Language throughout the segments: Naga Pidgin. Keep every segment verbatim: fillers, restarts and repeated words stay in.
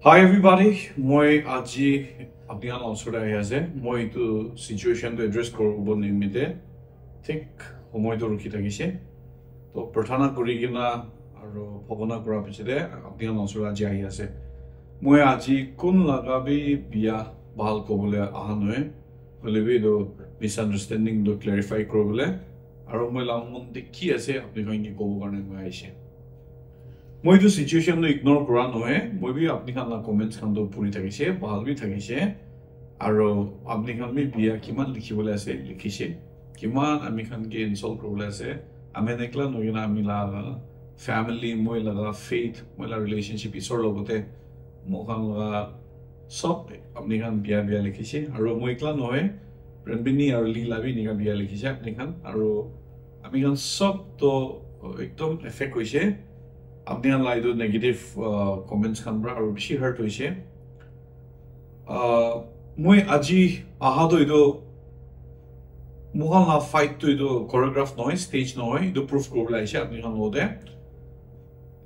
Hi everybody, moi aji apni khan osor te ahi ase. Moi etu situation to address koribo nimite thik homoi to rukhi thakise. To prarthana kori kena aru bhabona kora piche te apni khan osor te aji ahi ase. Moi aji kun laga bi bia bhal kobole aha nohoi. Hoile bi etu misunderstanding to clarify kuribole aru moi la mon te ki ase apni khan ke kobo karne moi aise. Moi etu situation to ignore kora nohoi, moi bi apni khan la comments khan to puri thakise, bhal bi thakise, aru apni khan bi bia kiman likhi bole ase likhise, kiman ami khan ke insult kuribole ase, ami khan ekla nohoi na ami la family, moi laga faith, moi la relationship Isor logote moi khan laga sob apni khan bia bia likhise, aru moi ekla nohoi, Renbini aru Lee la bi enika bia likhise apni khan, aru ami khan sob to ekdom affect hoise apni khan la etu negative uh, comments khan pra, aru bishi hurt hoise. Uh, moi aji aha to etu moi khan la fight to etu choreograph nohoi, stage nohoi, etu proof kuribole aise apni khan logote.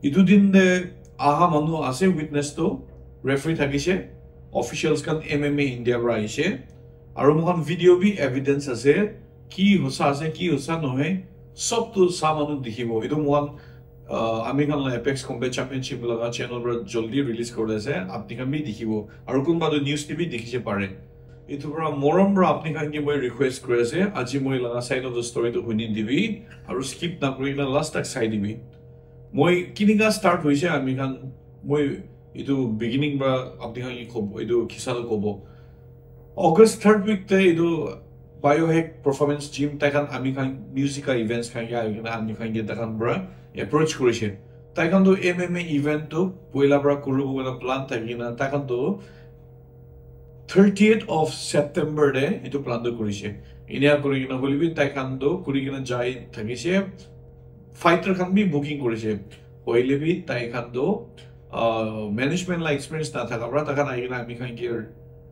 Etu din te aha manu ase witness to, referee thakise, officials khan M M A India pra aise, aru moi khan video bi evidence ase, ki hosa ase ki hosa nohoi, sob to sa manu dikhibo. Etu moi khan uh, ami khan la Apex Combat Championship laga channel pra jaldi release kuribole ase, apni khan bi dikhibo, aru kunba to news te bi dikhise pare. Etu pra morom pra apni khan ke moi request kuri ase, aji moi laga side of the story to huni dibi, aru skip na kuri na last tak sai dibi. Moi kinika start hoise ami khan, moi etu beginning pra apni khan ke kobo, etu kisa to kobo. August third week te etu Biohack Performance Gym tai khan ami khan music ka events khan ke ahi kena ami khan ke tai khan pra approach kurise. Tai khan to M M A event to poila pra kuribo kena plan thaki kena tai khan to thirtieth of September te etu plan to kurise. Enika kuri kena hoile bi tai khan to kuri kena jai thakise. Fighter khan bi booking kurise. Hoile bi tai khan to uh, management la experience na thaka pra tai khan ahi kena ami khan ke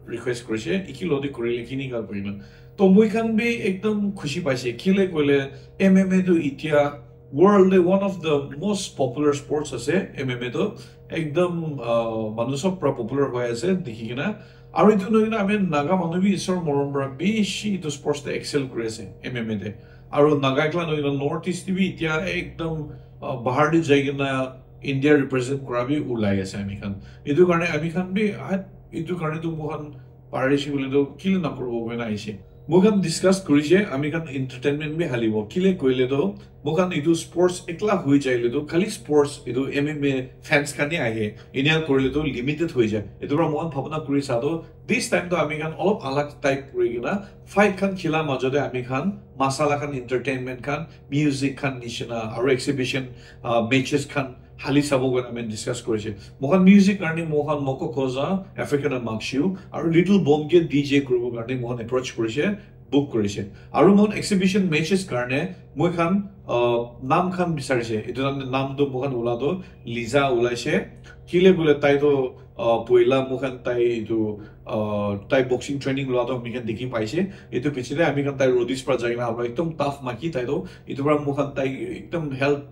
request kurise, iki lodi kurile kinika kurina. To moi khan bi ekdom khushi paise, kile koile M M A to itia world te one of the most popular sports ase. M M A to ekdom uh, manu sob pra popular hoi ase dikhi kena. Aru etu nohoi kena ami Naga manu bi Isor morom pra bishi etu sports te excel kuri ase M M A te. Aru Naga ekla nohoi kena North East te bi itia ekdom uh, bahar te jai kena India represent kura bi ulai ase ami khan. Etu karne ami khan bi ah, etu karne to moi khan parishi bole to kile na kuribo koi na aise. Moi khan discuss kurise, ami khan entertainment bi halibo. Kile koile to moi khan etu sports ekla hoi jaile to khali sports etu M M A fans khan he ahe. Enika kurile to limited hoi jai. Etu pra moi khan bhabna kuri sa to this time to ami khan olop alag type kuri kena fight khan khila majo te ami khan masala khan entertainment khan music khan nishina aru exhibition uh, matches khan hali sabo koi ami discuss kurise. Moi khan music karne moi khan Moko Koza, African and Makshu aru Little Bomb ke D J kuribo karne moi khan approach kurise, book kurise. Aru moi khan exhibition matches karne moi khan uh, nam khan bisarise. Etu nam nam to moi khan ula to Liza ulaise. Kile bole tai to uh, poila moi khan tai etu uh, tai boxing training lua to ami khan dikhi paise. Etu piche te ami khan tai roadies pra jai kena aru ekdom tough maki tai to etu pra moi khan tai ekdom health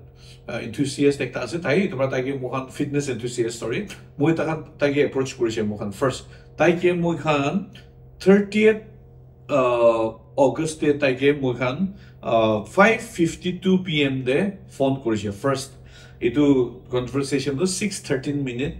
uh, enthusiast ekta ase tai, etu pra tai ke moi khan fitness enthusiast, sorry, moi tai khan tai ke approach kurise moi khan first. Tai ke moi khan thirtieth uh, August te tai ke moi khan uh, five fifty two P M te phone kurise first. Etu conversation to six thirteen minute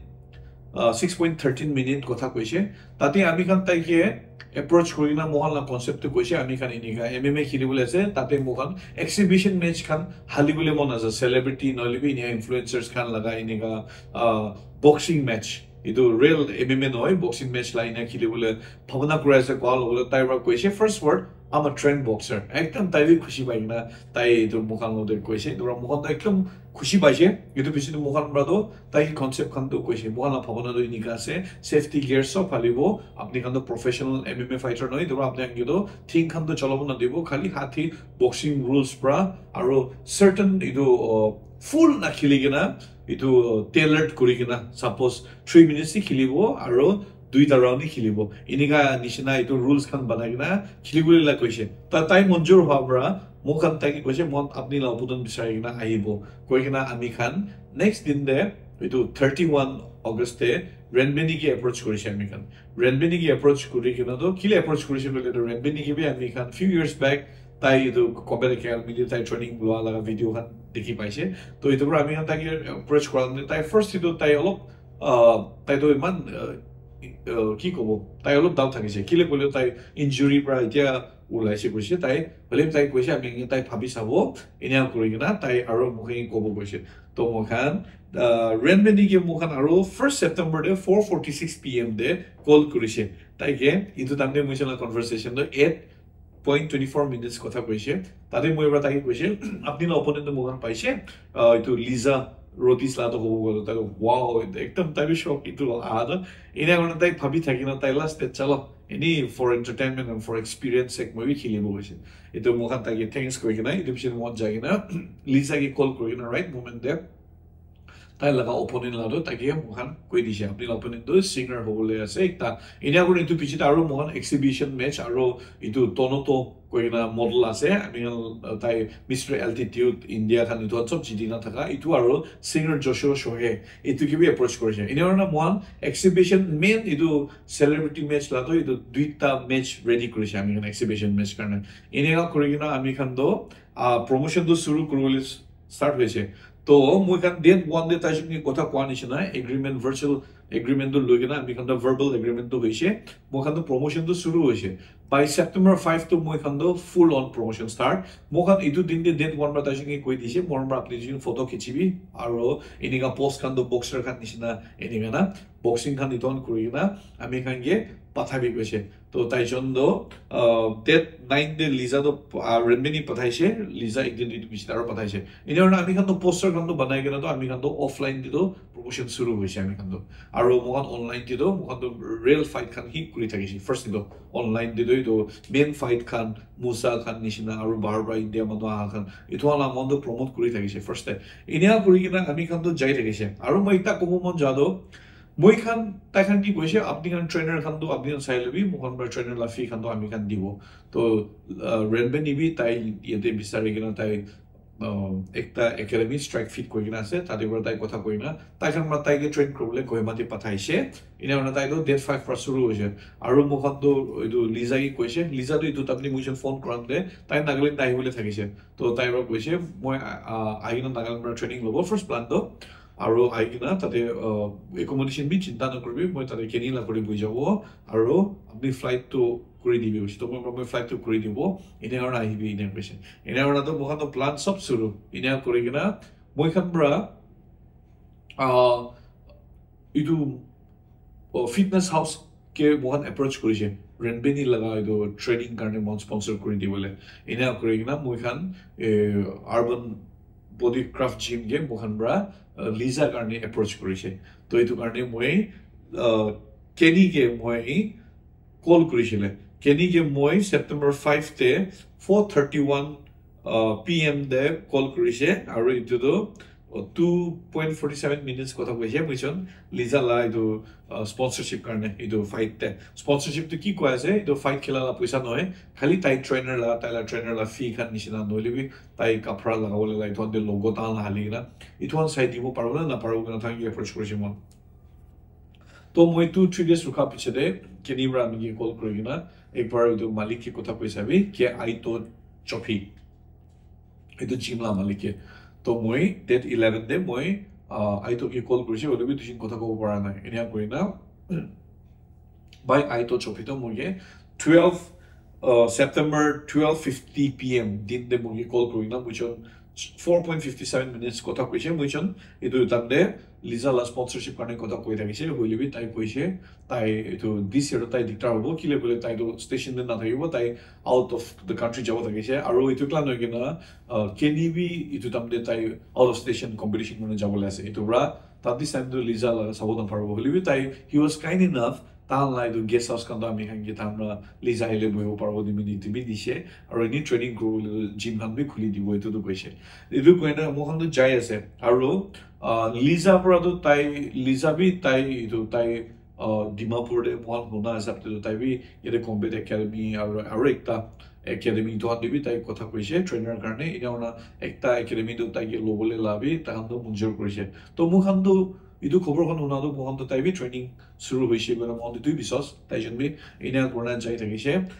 uh, six point thirteen minute kotha koise. Tate ami khan tai ke approach kuri na moi khan la concept to koise, ami khan enika M M A kheli bole ase, tate moi khan exhibition match khan hali bole mon ase, celebrity nohole bi enika influencers khan laga enika uh, boxing match. Etu real M M A nohoi, boxing match la ena kheli bole bhabna kuri ase koa logo tai pra koise first word, "I'm a trained boxer." Ekdom tai bi khushi pai kena tai etu moi khan logote koise. Etu pra moi khan to ekdom khushi paise. Etu piche te moi khan pra to tai concept khan to koise. Moi khan la bhabna to enika ase. Safety gear sob halibo. Apni khan to professional M M A fighter nohoi. Etu pra apni khan ke to thing khan to cholabo na dibo. Khali hathi boxing rules pra aru certain etu uh, full na kheli kena etu tailored kuri kena suppose three minutes hi khelibo aru duita round hi khelibo, enika nishina etu rules khan banai kena kheli bole la koise. Ta tai monjur hwa pra moi khan tai ke koise, "Moi apni la opponent bisari kena ahibo," koi kena ami khan next din te etu thirty one August te Renbeni ke approach kurishe ami khan. Renbeni ke approach kuri kena to kile approach kurishe koile to Renbeni ke bi ami khan few years back tai etu Combat Academy te tai training loa laga video khan dikhi paise. To etu para ami khan tai ke approach kora te tai first etu tai olop, ah, tai to iman, ah, ah, ki kobo, tai olop doubt thakise kile koile tai injury para etia ulaise koise tai, hoile tai koise ami tai bhabi sabo, enia kuri kena tai aro mokhan kobo koise. To mokhan, ah, Renbeni ke mokhan aro first September de four forty six P M de call kurise. Tai ke etu time de moi la conversation to eight point twenty four minutes kotha koise. Tate moi para tai ke koise, apni la opponent to mokhan paise, ah, etu Lisa Rodis la to hobo koile tai, wow, ekdam tai bi shock etu aha to. Enia kuri tai bhabi thaki na tai last te chalo, any for entertainment and for experience sake moi bi khelibo koise. Etu mokhan tai ke thanks kuri kena etu piche moi jai kena Lisa ke call kuri kena right moment de tai laga opponent la to tai ke mokhan koi dise, apni la opponent to singer hobole ase ekta. Enia kuri etu piche te aro mokhan exhibition match aro etu Tonoto koi kena model ase, ami khan, uh, tai Mister Altitude India khan etu khan sob jiti na thaka, etu aro singer Joshua Shohei, etu ke bi approach kurise. Enia kuri na mokhan exhibition main etu celebrity match la to etu duita match ready kurise ami khan exhibition match karne. Enia kuri kena ami khan to, ah, promotion to suru kuribole start hoise. To moi khan date one de tai jong ke kotha koa nishina agreement, virtual agreement to loi kena ami khan to verbal agreement to hoise. Moi khan to promotion to suru hoise. By September five to moi khan to full on promotion start. Moi khan etu din de date one para tai jong ke koi dise, moi para apni jong photo khichibi aro enika post khan to boxer khan nishina enika na boxing khan etu khan kuri kena ami khan ke pathabi koise. To tai jong to, uh, date nine de Lisa to, uh, Renbeni pathaise, Lisa ek din dui din piche aro pathaise. Enia kuri na ami khan to poster khan to banai kena to ami khan to offline de to promotion suru hoise ami khan to. Aro mokhan online de to mokhan to real fight khan hi kuri thakise. First de to online de to etu main fight khan, Musa khan nishina aro bahar para India manu aha khan, etu khan la mokhan to promote kuri thakise first de. Enia kuri kena ami khan to jai thakise. Aro moi ekta kobo mon ja to, moi khan, tai khan ki koise, apni khan trainer khan to apni khan sai lobi, moi khan para trainer la fee khan to ami khan dibo. To, uh, Renbeni bi tai yate bisari kena tai, uh, ekta academy Strike Fit koi kena ase, tate para tai kotha koi na, tai khan para tai ke train kuribole Kohima te pathaise. Enia kuri na tai to date five para suru hoise. Aro moi khan to etu Lisa ke koise, Lisa to etu tapni moi khan phone kuran de, tai Nagaland ahibole thakise. To tai para koise, moi, ah, ahi kena Nagaland para training lobo, first plan to. Aro ahi kena tate, ah, accommodation bi chinta nakuribi, moi tate Kenny la kuri bui jabo, aro apni flight to kuri dibi koise. To moi, moi flight to kuri dibo, enia kuri na ahibi, enia koise. Enia kuri na to moi khan to plan sob suru, enia kuri kena moi khan para, ah, etu, oh, fitness house ke moi khan approach kurise, Renbeni laga etu training karne moi khan sponsor kuri dibole. Enia kuri kena moi khan, eh, Urban Body Craft Gym ke moi khan para, uh, Lisa karne approach kurise. To etu karne moi, uh, Kenny ke moi call kurisile. Kenny ke moi September five te four thirty one, uh, P M de call kurise. Aro etu to, uh, two point forty seven minutes kotha koise. Moi khan Lisa la etu, uh, sponsorship karne etu fight te. Sponsorship to ki koi ase? Etu fight khela la poisa nohoi. Khali tai trainer la, tai la trainer la fee khan nishina nohole bi tai kapra lagabole la etu khan te logo tahan la hali kena etu khan sai dibo paribo na naparibo kena tai ke approach kurise moi. To moi two three days rukha piche te Kenny para ami ke call kuri kena ek bar etu malik ke kotha koi sabi ke Aito Chophi, etu gym la malik ke. To moi date eleven de moi, ah, Aito ke call kurise, hoile bi dui din kotha kobo para nai. Enia kuri na, by Aito Chophi to moi ke twelve, uh, September twelve fifty P M din de moi ke call kuri na, moi khan four point fifty seven minutes kotha koise. Moi khan etu time de Lisa la sponsorship karne kotha koi thakise, hoile bi tai koise, tai etu this year tai diktar hobo, kile koile tai to station de nathakibo, tai out of the country jabo thakise. Aro etu klan hoi kena, uh, Kenny bi etu time de tai out of station competition kurne jabole ase. Etu para tate time to Lisa la sabo naparibo, hoile bi tai, he was kind enough, tahan la etu guest house khan to ami khan ke tahan para Lisa ahile bohibo paribo di mini etu bi dise, aro eni training kuribole gym khan bi khuli dibo, etu to koise. Etu koi na moi khan to jai ase, aro, ah, Lisa para to tai, Lisa bi tai etu tai, ah, Dimapur de moi khan huna hisab te to tai bi yate Combat Academy aro, aro ekta academy to khan te bi tai kotha koise trainer karne, enia kuri na ekta academy to tai ke lobole la bi tai khan to munjur kurise. To moi khan to Etu khobor khan huna tu moikhan tu tai bi training suru hoise koina moikhan tu etu biswas tai jon bi enia kurina jai thakise.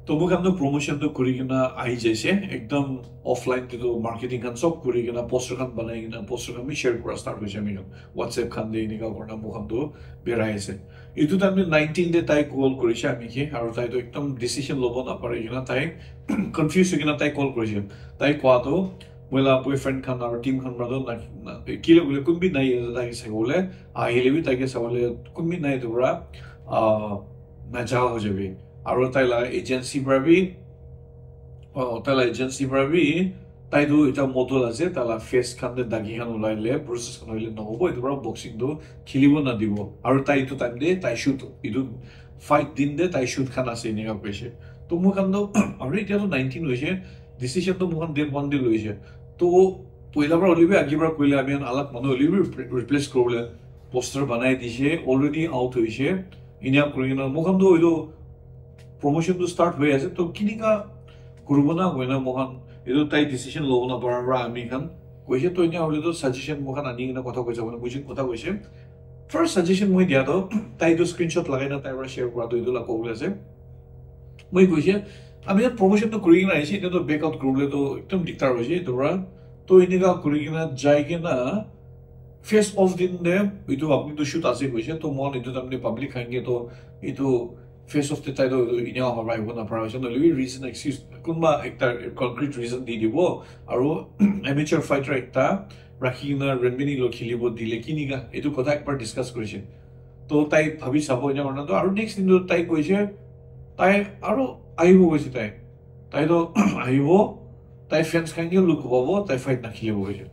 To moikhan tu promotion tu kuri kena ahi jaise, ekdam offline te tu marketing khan sob kuri kena poster khan banai kena poster khan bi share kura start hoise ami khan WhatsApp khan te enika kurina moikhan tu berai ase. Etu time te nineteen te tai call kurise ami ke, aru tai tu ekdam decision lobo napari kena tai confuse hoi kena tai call kurise. Tai koa tu moi la boyfriend khan aru team khan para tu na, na, kile bole kun bi nai yate tai sabo le, ahile bi tai ke sabo le kun bi nai tu para, ah, naja ho jabi. Aru tai la agency para bi, oh, tai la agency para bi, tai tu eta model ase, tai la face khan te dagi khan ulai le, bruises khan hoile nohobo, etu para boxing tu khilibo nadibo. Aru tai etu time te tai shoot, etu fight din te tai shoot khan ase enika koise. To moi khan tu, aru etia tu nineteen hoise, decision tu moi khan day one te loise. To poila para hoile bi agi para koile ami khan alak manu hoile bi repre-, replace kuribole poster banai dise, already out hoise. Enia kuri kena moi khan tu etu promotion tu start hoi ase, to kinika kuribo na koina moi khan etu tai decision lobo na para para ami khan koise. To enia hoile tu suggestion moi khan ani kena kotha koise, moi khan kotha koise. First suggestion moi dia tu tai tu screenshot lagai na tai para share kura tu etu la kobole ase. Moi koise ami khan promotion tu kuri kena aise, etu tu back out kuribole tu ekdam diktar hoise etu para. To enika kuri kena jai kena face off din te etu apni tu shoot ase koise, to moi khan etu time te public khan ke to etu face off te tai to etu enia horai hobo na para hoise, nohole bi reason excuse kunba ekta concrete reason di dibo, aru amateur fighter ekta rakhi kena Renmini lo khilibo dile kinika etu kotha ekbar discuss kurise. To tai bhabi sabo enia hoina to aru next din to tai koise tai aru ahibo koise tai. Tai to ahibo, tai fans khan ke look pabo, tai fight nakhilibo koise.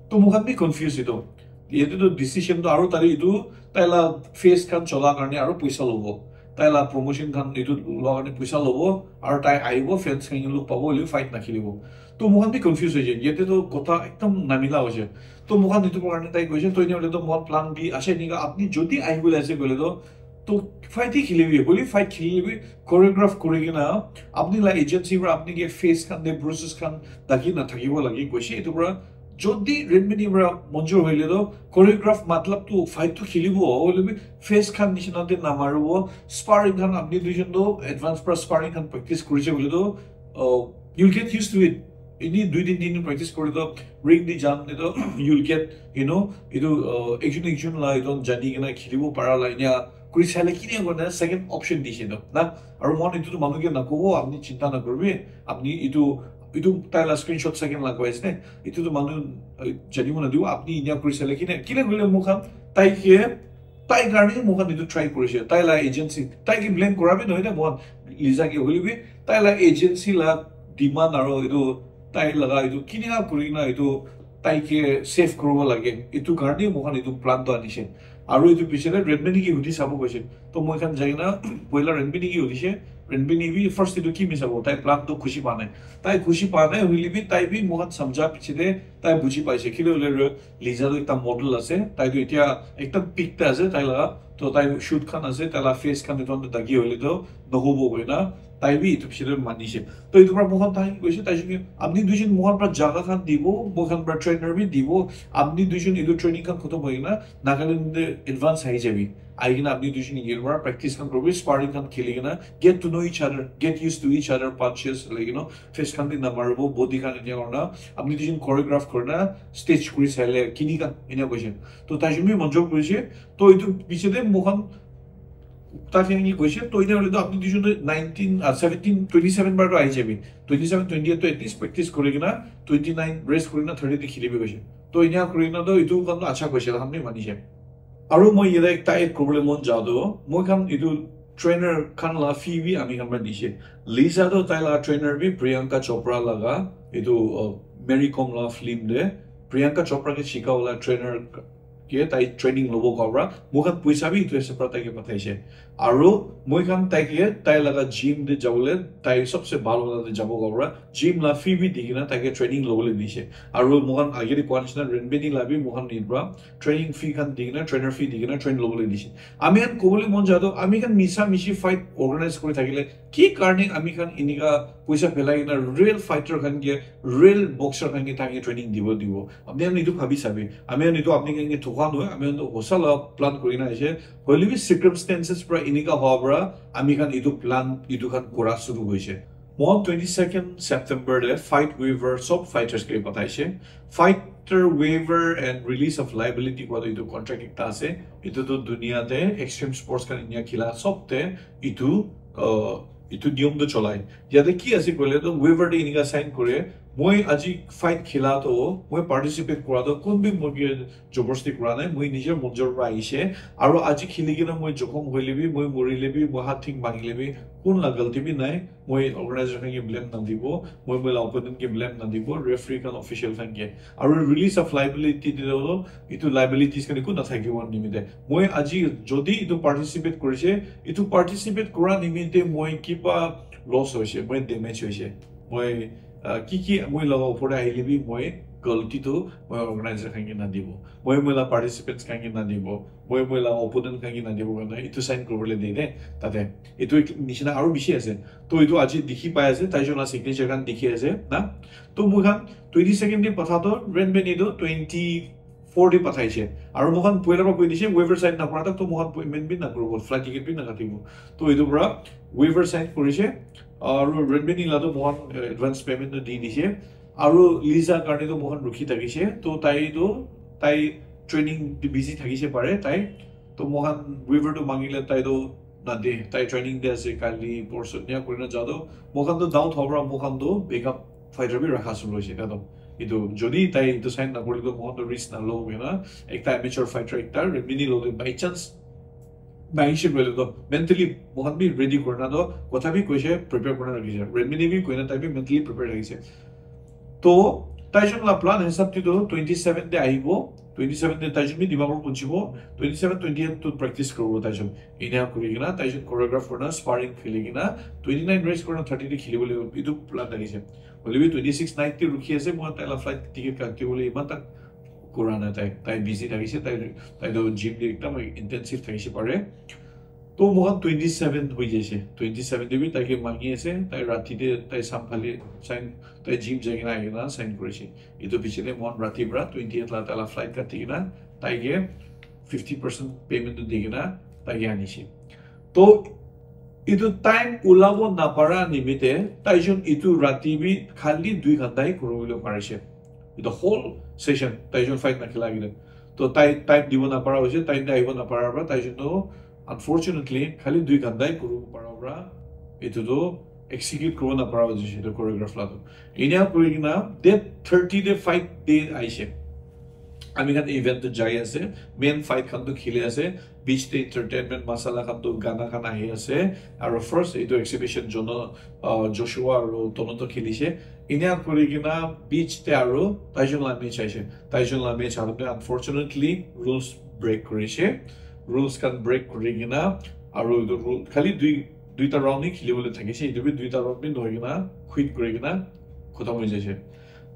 To moi khan bi confuse etu. Yate to decision to aru tai etu tai la face khan chola karne aru poisa lobo. Tai la promotion khan etu loa karne poisa lobo, aru tai ahibo, fans khan ke look pabo, hoile fight nakhilibo. To moi khan bi confuse hoise. Yate to kotha ekdam namila hoise. To moi khan etu karne tai koise, to enia hoile to moi khan plan B ase enika, apni jodi ahibole ase koile to to fight hi khilibi, hoile fight khilibi, choreograph kuri kena, apni la agency para apni ke face khan te bruises khan dagi na thakibo lage koise. Etu para jodi Renmini para manjur hoile to choreograph matlab tu fight tu khilibo, hoile bi face khan nishina te namaribo. Sparring khan apni duijon to advance para sparring khan practice kurise hoile to, uh, you'll get used to it. Ini dui din, tin din practice kore to ring di jam te to you'll get, you know, etu, uh, ekjon ekjon la etu jani kena khilibo para la enia kuri saile kini kona second option dise to na. Aru moi etu tu manu ke nakobo, apni chinta nakoribi, apni etu, etu tai la screenshot second la koi ase ne, etu tu manu, uh, janibo nadibo, apni enia kuri saile kini kile kile moi khan tai ke tai karne moi khan etu try kurise, tai la agency, tai ke blame kora bi nohoi na, moi khan Liza ke hoile bi tai la agency la demand aro etu tai laga etu kinika kuri na etu tai ke save kuribo lage, etu karne moi khan etu plan to anise. Aro etu piche te Renmini ke hudi sabo koise, to moi khan jai na poila Renmini ke hudise. Renmini bi first etu ki misabo, tai plan to khushi pa nai, tai khushi pa nai hoile bi tai bi moi khan samjha piche te tai buji paise, kile hoile Liza tu ekta model ase, tai tu etia ekdam peak te ase, tai laga to tai shoot khan ase, tai la face khan etu khan tu dagi hoile to nohobo koi na, tai bi etu piche te manise. To etu para moi khan tai koise, tai jun apni duijon moi khan para jaga khan dibo, moi khan para trainer bi dibo, apni duijon etu training khan khotom hoi kena Nagaland te advance ahi jabi, ahi kena apni duijon etu para practice khan koribi, sparring khan kheli kena get to know each other, get used to each other punches, like, you know, face khan bi namaribo, body khan etia kurina apni duijon choreograph kurina stage kuri saile kinika enia koise. To tai jun bi manjur koise. To etu piche te moi khan tai khan ki koise, to etia hoile to apni duijon to nineteen, ah, seventeen, twenty seven bar to ahi jabi, twenty seven, twenty eight to at least practice kuri kena twenty nine rest kuri kena thirty te khelibi koise. To enia kuri kena to etu khan to acha koise, khan bi manise. Aru moi yate ekta add kuribole mon ja tu, moi khan etu trainer khan la fee bi ami khan para dise. Liza tu tai la trainer bi Priyanka Chopra laga etu, uh, Mary Kom la film te Priyanka Chopra ke shika wala trainer ke tai training lobo ka para moi khan poisa bi etu ase para tai ke pathaise. Aru moi khan tai ke tai laga gym te jabole, tai sabse bhal wala te jabo ka para gym la fee bi di kena tai ke training lobole dise. Aru moi khan age te koa nishina Renbeni la bi moi khan nit para training fee khan di kena, trainer fee di kena train lobole dise. Ami khan kobole mon ja to, ami khan misa mishi fight organize kuri thakile ki karne ami khan enika poisa phelai kena real fighter khan ke, real boxer khan ke tai ke training dibo dibo? Apni khan etu bhabi sabi. Ami khan etu apni khan ke Koa nohoi, ami khan tu hosa la plan kuri na aise. Hoile bi circumstances pra enika hoa pra ami khan etu plan, etu khan kura shuru hoise. Moi twenty second September te fight waiver sob fighters ke pataise. Fighter waiver and release of liability koa tu etu contract ekta ase. Etu tu dunia te extreme sports khan India khila sob te etu, uh, etu niyom tu cholai. Yate ki ase koile tu waiver te enika sign kore, moi aji fight khila to, moi participate kura to, kun bi moi ke jabardasti kura nai, moi nijer monjor pra ahishe, aro aji khili kena moi jokhom hoile bi, moi morile bi, moi hath thing bhangile bi, kun la galti bi nai, moi organizer khan ke blame na dibo, moi moi la opponent ke blame na dibo, referee khan, official khan ke. Aro release of liability te to, itu liabilities khan eku na thakibo nimite. Moi aji jodi itu participate korise, itu participate kura nimite moi kiba loss hoise, moi damage hoise, moi, ah, ki ki moi laga opor te ahile bi moi galti tu moi organizer khan ke na dibo, moi moi la participants khan ke na dibo, moi moi la opponent khan ke na dibo karne itu sign kuribole de de tate. Itu ek nishina aru bishi ase. To itu aji dikhi pai ase, taijon la signature khan dikhi ase na. To moi khan twenty second te patha to, Renmin itu twenty four te pathaise. Aru moi khan poila pra koi dise, waiver sign na kura tak to moi khan payment bi na kuribo, flight ticket bi na katibo. To itu pra waiver sign kurise, aru Renmin la to moi khan, eh, advance payment to di dise. Aru Lisa karne to moi khan rukhi thakise, to tai to, tai training te busy thakise pare tai. To moi khan waiver to mangile tai to na de, tai training de ase, kali porsu nia kurina ja to, moi khan to doubt hobo pra moi khan to backup fighter bi rakha suru hoise. Etu jodi tai etu sign na kurile to moi khan to risk na lo hoina, ekta amateur fighter ekta Renmin lo de by chance na aise koile to mentally moi khan bi ready kurina to kotha bi koise, prepare kurina rakhise. Renmin bi koina tai bi mentally prepare rakhise. To taijon la plan hisab te to twenty seven te ahibo, twenty seven te taijon bi Dimapur punchibo, twenty seven, twenty eight to practice kuribo taijon. Enia kuri kena taijon choreograph kurina, sparring khili kena, twenty nine rest kurina thirty te khilibole etu plan thakise. Hoile bi twenty six night te rukhi ase, moi tai la flight ticket katibole iman tak kura nai tai. Tai busy thakise, tai, tai to gym te ekdam intensive thakise pare. To moi khan twenty seven hoi jaise. Twenty seven te bi tai ke mangi ase, tai rati te tai samphali sign, tai gym jai kena ahi kena sign kurise. Etu piche te moi khan rati pra twenty eight la tai la flight kati kena tai ke fifty percent payment tu di kena tai ke anise. To etu time ulabo napara nimite taijon etu rati bi khali dui ghanta hi kuribole parise. The whole session taijon fight na khila kena. To tai time dibo napara hoise, time te ahibo napara pra taijon to unfortunately khali dui ghanta hi kuribo para pra etu to execute kuribo napara hoise etu choreograph la to. Enia kuri kena date thirty te fight day aise. Ami khan event to jai ase, main fight khan to khili ase, beach te entertainment masala khan to gana khan ahi ase, aru first etu exhibition Jono, uh, Joshua aru Tono to khilise. Enia kuri kena beach te aru taijon la match aise. Taijon la match aru te unfortunately rules break kurise. Rules khan break kuri kena aru etu rule khali dui, duita round hi khilibole thakise. Etu bi duita round bi nohoi kena quit kuri kena khotom hoi jaise.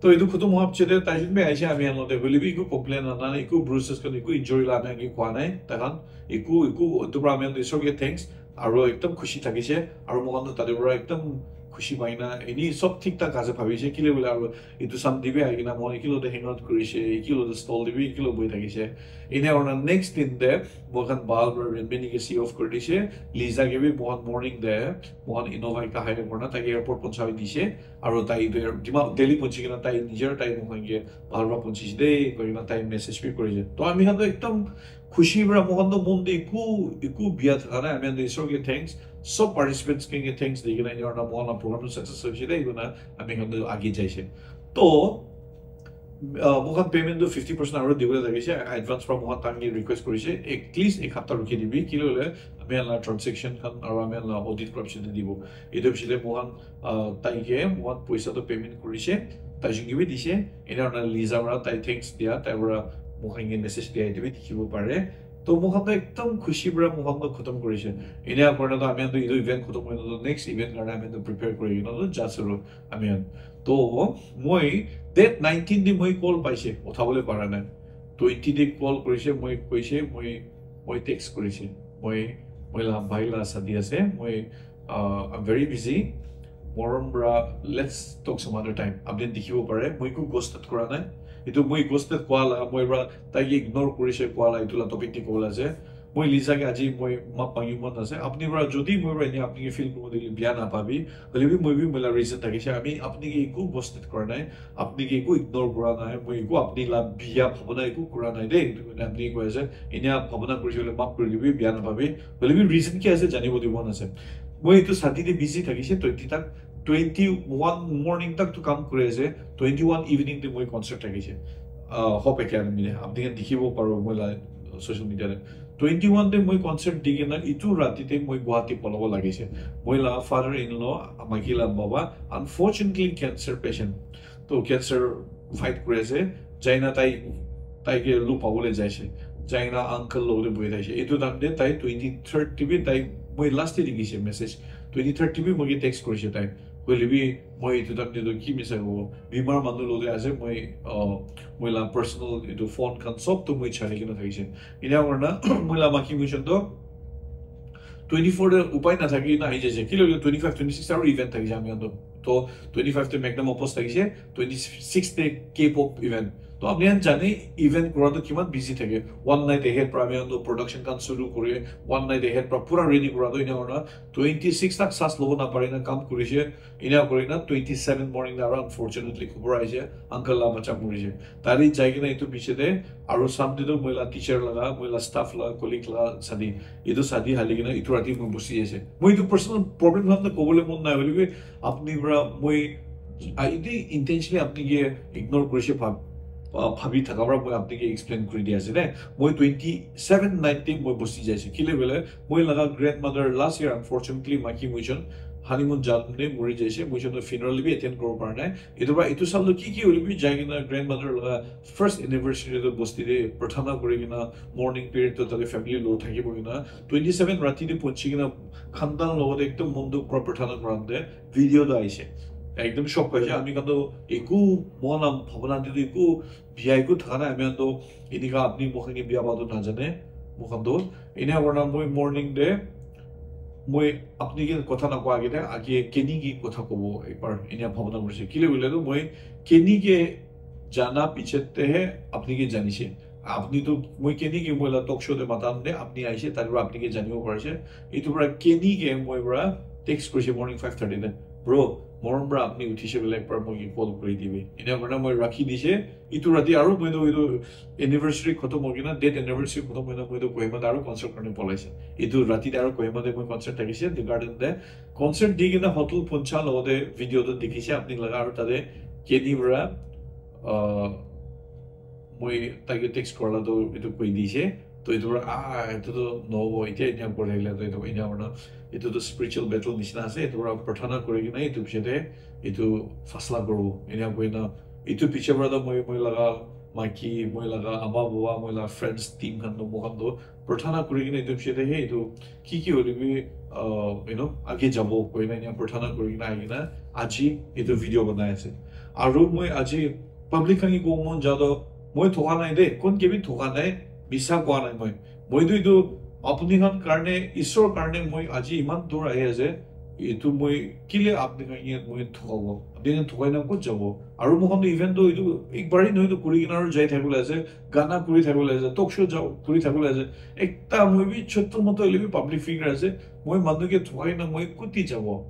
To etu khotom hoa piche te taijon bi aise ami khan logote, hoile bi eku complain na, na eku bruises khan, eku injury la ami khan ke koa nai. Tai khan eku, eku, etu pra ami khan Isor ke thanks. Aru ekdam khushi thakise. Aru moi khan to tate pra ekdam khushi pai na, eni sob thik thak ase bhabise. Kile bole aru etu Sunday bi ahi kena moi khan eki logote hang out kurise, eki logote stall te bi eki logote bohi thakise. Ene aru na next din te moi khan bhal pra Renmin ke see off kuri dise. Lisa ke bi moi khan morning te moi khan Innova ekta hire kurina tai ke airport ponchai dise. Aru tai etu air-, Dima-, Delhi ponchi kena tai nijer tai moi khan ke bhal pra ponchise de koi kena tai message bi kurise. To ami khan to ekdam khushi pra moi khan to mon te eku, eku bia thaka nai. Ami khan to Isor ke thanks, sob participants khan ke thanks di kena ena aru na moi khan la program to success hoise de koi kena ami khan to age jaise. To, uh, moi khan payment to fifty percent aru dibole thakise, advance pra moi khan tai ke request kurise, at least ek hapta rukhi dibi, kile bole ami khan la transaction khan aru ami khan la audit kura piche te dibo. Etu piche te moi khan, uh, tai ke moi khan poisa to payment kurise, taijon ke bi dise, ena aru na Lisa pra tai thanks dia, tai pra moi khan ke message dia, etu bi dikhibo pare. To moi khan to ekdam khushi pra moi khan to khotom kurise. Ena kurina to ami khan to etu event khotom hoina to next event karne ami khan to prepare kuri kena to ja ase aro ami khan. To moi date nineteen te moi call paise, uthabole para nai. Twenty te call kurise, moi koise, moi, moi text kurise. Moi, moi la bhai la shadi ase, moi, uh, I'm very busy. Morom pra, let's talk some other time. Apni dikhibo pare, moi eku ghost kura nai. Etu moi ghosted koa la, moi pra tai ke ignore kurishe koa la, etu la topic te kobole ase. Moi Lisa ke aji moi map mangi mon ase. Apni pra jodi moi pra enia apni ke feel kuribo dile bia na pabi. Hoile bi moi bi moi la reason thakishe. Ami apni ke eku ghosted kora nai, apni ke eku ignore kora nai, moi eku apni la bia bhabona eku kora nai de. Etu koina apni koi ase, enia bhabona kurishe hoile map kuri dibi, bia na pabi. Hoile bi reason ki ase janibo dibo mon ase. Moi etu shadi te busy thakishe twenty tak, twenty one morning tak tu kam kuri ase, twenty one evening te moi concert thakishe. Ah, Hope Academy te apni khan dikhibo paribo moi la social media te. Twenty one te moi concert di kena itu rati te moi Guwahati polabo lagise. Moi la father in law, maiki la baba, unfortunately cancer patient. To cancer fight kuri ase. Jaina tai, tai ke lu pabole jaise. Jaina uncle lo de bohi thaise. Itu time te tai twenty third te bi tai moi last te dikhi se message. Twenty third te bi moi ke text kurise tai. Hoile bi moi itu time te to ki misa ko bimar manu lo de ase moi, uh, moi la personal itu phone khan sob to moi chari kena thaise. Ina korna moi la maki mission to twenty four te upai na thaki na ahi jaise. Kile twenty five, twenty six aru event thaki jam yanto. To twenty five te Magnum Opus thakise, twenty six te K-pop event. To apni khan jane event kura to kiman busy thake. One night ahead pra ami khan to production khan suru kure, one night ahead pra pura ready kura to ina kura twenty six tak sas lobo na pare na kam kurise. Ina kuri na twenty seven morning na aru unfortunately khubor aise uncle la bacha murise. Tari jai kena itu piche te aru sam te to moi la teacher laga, moi la staff la, colleague la sadi. Itu sadi hali kena itu rati moi busi ase. Moi itu personal problem khan to kobole mon nai hoile bi apni pra moi, ah, iti intentionally apni ke ignore kurise bhab-, ah, bhabi thaka pra moi apni ke explain kuri di ase de. Moi twenty seven night te moi busi jaise. Kile bole moi laga grandmother last year unfortunately maki moi jon honeymoon jam te muri jaise. Moi jon to funeral bi attend koribo para nai. Itu pra itu sal to ki ki hoile bi jai kena grandmother laga first anniversary to bosti te prathana kuri kena morning period to tate family lo thaki bo kena twenty seven rati te punchi kena khandan logo te ekdom mon dukh pra prathana kura de video to aise. Ekdom shock paise ami khan to eku mon am bhabona te to eku bia eku thaka nai ami khan to enika apni mokhan ke bia pa to na jane mokhan to ena kora moi morning te moi apni ke kotha na koa age te age Kenny ke kotha kobo ekbar ena bhabona kurise. Kile bole to moi Kenny ke jana piche te he apni ke janise. Apni to moi Kenny ke moi la talk show te matan de apni aise, tar pra apni ke janibo parise. Itu pra Kenny ke moi pra text kurise morning five thirty te, "Bro, morom pra apni uthise bole ekbar moi ke call kuri dibi." Ena kora moi rakhi dise. Itu rati aru moi to itu anniversary khotom hoi kena, date anniversary khotom hoi kena moi to Kohima te aru concert karne polaise. Itu rati te aru Kohima te moi concert thakise, The Garden te. Concert di kena hotel puncha logote video to dikhise apni laga aru tate Kenny pra, ah, moi taike text kora la to itu koi dise. To itu pra, ah, itu to nohobo, itya enya kuri thakile to itu enya kurna, itu to spiritual battle nishina ase. Itu pra prathana kuri kena itu piche te itu fasla koribo. Enya koi na, itu piche pra to moi, moi laga maki, moi laga ama baba, moi laga friends team khan to moikhan to prathana kuri kena itu piche te he itu ki ki hoile bi, uh, you know, age jabo koi na enya prathana kuri kena ahi kena aji itu video banai ase. Aru moi aji public khan ke kobo mon ja to moi thoka nai de, kon ke bi thoka nai, misa koa nai moi. Moi to itu apni khan karne, Isor karne moi aji iman dur ahi ase. Itu moi kile apni khan ke moi thokabo? Apni khan thokai na kot jabo? Aru moikhan to event to itu ek bari nohoi to kuri kena aru jai thakibole ase, gana kuri thakibole ase, talk show ja-, kuri thakibole ase. Ekta moi bi chotto motto hoile bi public figure ase. Moi manu ke thokai na moi kuti jabo?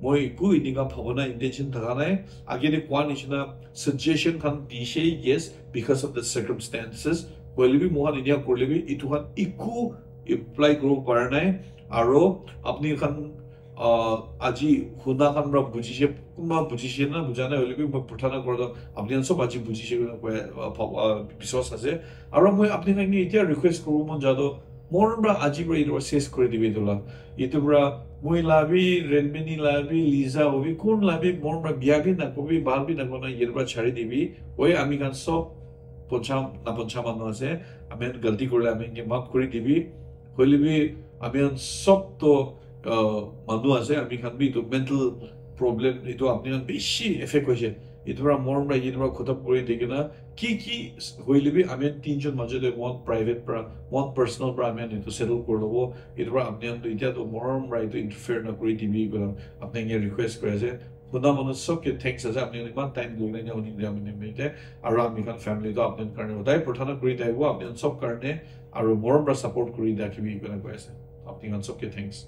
Moi eku enika bhabona intention thaka nai. Age te koa nishina suggestion khan dise, yes, because of the circumstances. Hoile bi moikhan enika kurile bi itu khan eku apply kuribo para nai. Aro apni khan, ah, aji huna khan pra bujise, kunba bujise na buja nai hoile bi moi prathana kura to apni khan sob aji bujise koina koi, ah, bhab-, ah, biswas ase. Aro moi apni khan ke itya request kuribo mon ja to morom pra aji pra etu pra ses kuri dibi etu la. Etu pra moi la bi, Renmini la bi, Lisa hobi, kun la bi, morom pra bia bi nakobi, bhal bi nakona, etu pra chari dibi. Oi, ami khan sob poncha, naponcha manu ase. Ami khan galti kurile ami khan ke maaf kuri dibi. Hoile bi ami khan sob to, uh, manu ase. Ami khan bi etu mental problem, etu apni khan bishi effect hoise. Etu pra morom pra etu pra khotom kuri di kena, ki ki hoile bi ami khan tinjon majo te one private pra, one personal pra ami khan etu settle kuri lobo. Etu pra apni khan to itya to morom pra etu interfere na kuri dibi koina apni khan ke request kuri ase. Huna manu sob ke thanks ase, apni khan iman time dikena enia huni dia mene mete, aru ami khan family to apni khan karne hodai prathana kuri thaibo, apni khan sob karne, aru morom pra support kuri dia kibi kena koi ase. Apni khan sob ke thanks.